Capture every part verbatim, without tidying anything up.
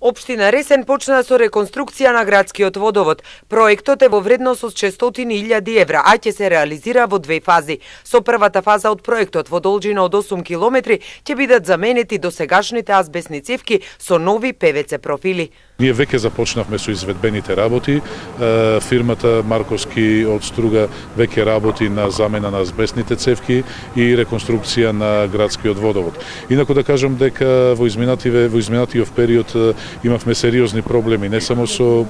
Општина Ресен почна со реконструкција на градскиот водовод. Проектот е во вредност од шестстотини илјади евра, а ќе се реализира во две фази. Со првата фаза од проектот во должина од осум километри ќе бидат заменети досегашните азбестни цевки со нови Пе Ве Це профили. Ние веќе започнавме со изведбените работи. Фирмата Марковски од Струга веќе работи на замена на азбестните цевки и реконструкција на градскиот водовод. Инаку да кажам дека во изминативе во изминатиот период имавме сериозни проблеми не само со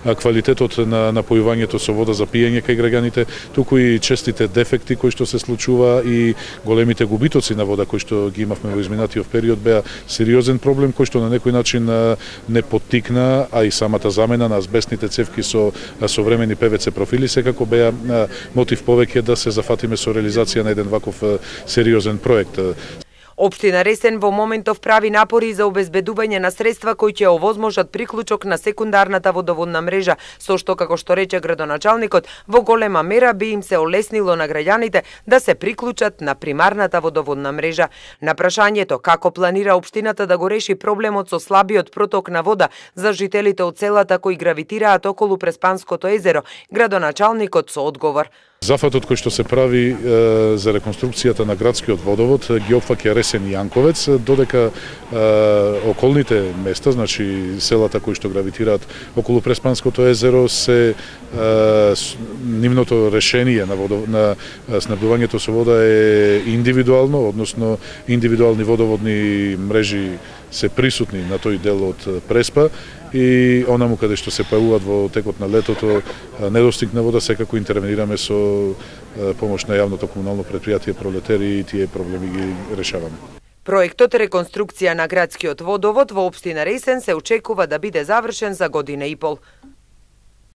квалитетот на напојувањето со вода за пиење кај граѓаните, туку и честите дефекти кои што се случува и големите губитоци на вода кои што ги имавме во изминатиот период беа сериозен проблем кој што на некој начин не поттикна, а и самата замена на азбестните цевки со современи Пе Ве Це профили секако беа мотив повеќе да се зафатиме со реализација на еден ваков сериозен проект. Општина Ресен во моментов прави напори за обезбедување на средства кои ќе овозможат приклучок на секундарната водоводна мрежа, со што, како што рече градоначалникот, во голема мера би им се олеснило на граѓаните да се приклучат на примарната водоводна мрежа. На прашањето како планира општината да го реши проблемот со слабиот проток на вода за жителите од селата кои гравитираат околу Преспанското езеро, градоначалникот со одговор. Зафатот кој што се прави е, за реконструкцијата на градскиот водовод ги опфаќа Ресен и Јанковец, додека е, околните места, значи селата кои што гравитираат околу Преспанското езеро, се е, нивното решение на, водов... на снабдувањето со вода е индивидуално, односно индивидуални водоводни мрежи се присутни на тој дел од Преспа и онаму каде што се појавуваат во текот на летото недостиг на вода, секако интервенираме со помош на јавното комунално претпријатие Пролетери и тие проблеми ги решаваме. Проектот реконструкција на градскиот водовод во општина Ресен се очекува да биде завршен за година и пол.